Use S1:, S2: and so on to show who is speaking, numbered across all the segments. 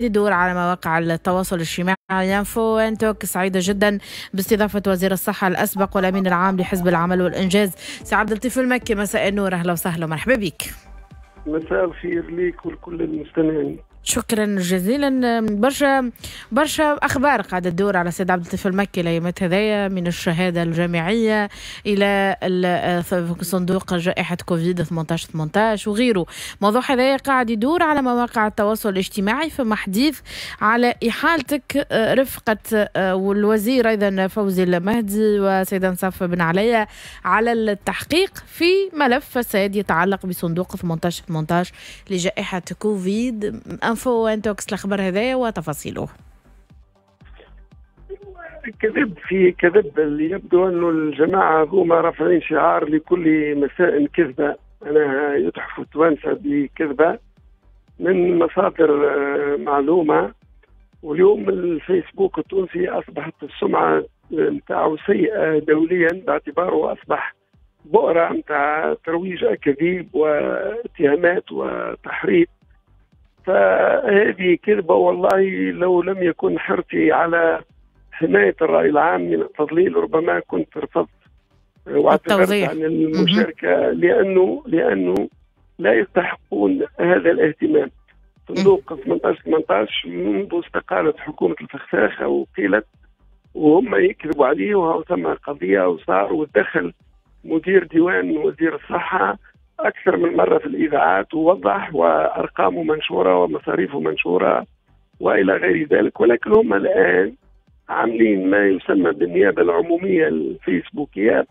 S1: يدور على مواقع التواصل الاجتماعي. Info Intox سعيدة جدا باستضافة وزير الصحة الأسبق والأمين العام لحزب العمل والإنجاز سي عبد اللطيف المكي. مساء النور، أهلا وسهلا ومرحبا بك.
S2: مساء الخير ليك ولكل المستمعين.
S1: شكرا جزيلا. برشا برشا اخبار قاعدة تدور على سيد عبد اللطيف المكي الايامات هذايا، من الشهادة الجامعية الى صندوق جائحة كوفيد 18 وغيره. موضوع هذايا قاعد يدور على مواقع التواصل الاجتماعي، فما حديث على احالتك رفقه والوزير ايضا فوزي المهدي وسيد انصاف بن عليا على التحقيق في ملف فساد يتعلق بصندوق 18 لجائحه كوفيد. Info Intox الخبر هذايا وتفاصيله.
S2: كذب في كذب. اللي يبدو انه الجماعة هما رافعين شعار لكل مساء كذبه، معناها يتحفوا التوانسة بكذبه من مصادر معلومة. واليوم الفيسبوك التونسي اصبحت السمعة نتاعو سيئه دوليا، باعتباره اصبح بؤرة نتاع ترويج اكاذيب واتهامات وتحريض. فهذه كذبة، والله لو لم يكن حرصي على حماية الرأي العام من التضليل ربما كنت رفضت واعتذرت عن المشاركة، لأنه لا يستحقون هذا الاهتمام. صندوق 18 منذ استقالت حكومة الفخفاخة وقيلت وهم يكذبوا عليه، وهو ثم قضية وصار ودخل مدير ديوان وزير الصحة أكثر من مرة في الإذاعات ووضح، وأرقامه منشورة ومصاريفه منشورة وإلى غير ذلك. ولكن هم الآن عاملين ما يسمى بالنيابة العمومية الفيسبوكية،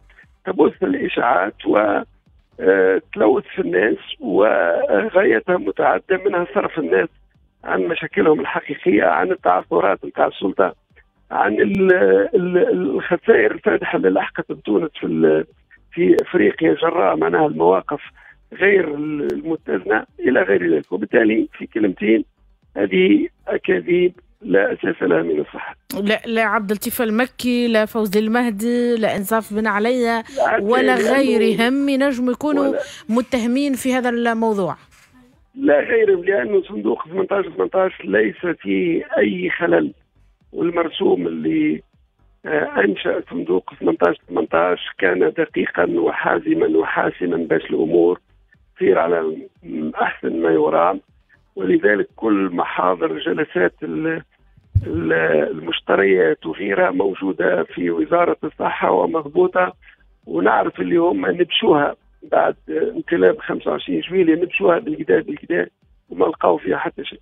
S2: تبث الإشاعات وتلوث في الناس، وغايتها متعددة، منها صرف الناس عن مشاكلهم الحقيقية، عن التعثرات نتاع السلطة، عن الخسائر الفادحة اللي لحقت بتونس في افريقيا جراء معناها المواقف غير المتزنه الى غير ذلك. وبالتالي في كلمتين، هذه اكاذيب لا اساس لها من الصحة.
S1: لا لا عبد اللطيف المكي، لا فوزي المهدي، لا انصاف بن عليا ولا غيرهم ينجموا يكونوا متهمين في هذا الموضوع.
S2: لا غيرهم، لانه صندوق 18 ليس فيه اي خلل، والمرسوم اللي أنشأ صندوق 18 كان دقيقا وحازما وحاسما باش الأمور تصير على أحسن ما يرام. ولذلك كل محاضر جلسات المشتريات وغيرها موجودة في وزارة الصحة ومضبوطة، ونعرف اللي هم نبشوها بعد انقلاب 25 جويلية، نبشوها بالكدا بالكدا وما لقاو فيها حتى شيء.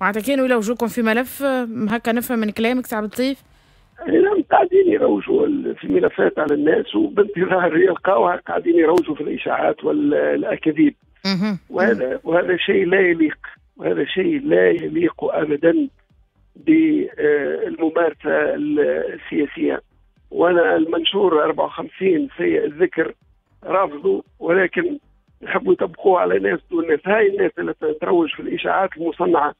S1: معناتها كانوا يلوجوكم في ملف هكا، نفهم من كلامك سي عبد اللطيف؟
S2: نعم، قاعدين يروجوا في ملفات على الناس، وبانتظار يلقاوها قاعدين يروجوا في الاشاعات والاكاذيب. وهذا شيء لا يليق، وهذا شيء لا يليق ابدا بالممارسة السياسية. وانا المنشور 54 سيء الذكر رافضه، ولكن يحبوا يطبقوه على ناس دون ناس. هاي الناس اللي تروج في الاشاعات المصنعة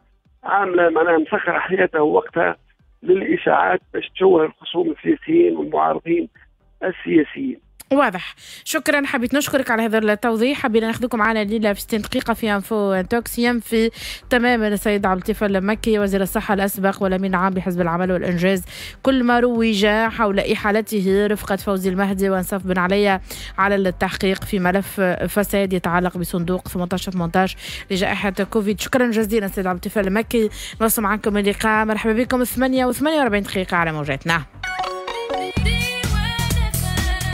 S2: عامله معناها مسخرة حياتها ووقتها للإشاعات باش تشوه الخصوم السياسيين والمعارضين السياسيين.
S1: واضح. شكرا، حبيت نشكرك على هذا التوضيح. حبينا ناخذكم معنا الليلة في 60 دقيقة في Info Intox. ينفي تماما السيد عبد اللطيف المكي وزير الصحة الاسبق والامين العام بحزب العمل والانجاز كل ما روج حول احالته رفقه فوزي المهدي وانصاف بن عليا على التحقيق في ملف فساد يتعلق بصندوق 18 لجائحه كوفيد. شكرا جزيلا سيد عبد اللطيف المكي. نوصل معكم اللقاء. مرحبا بكم 8:48 على موجاتنا.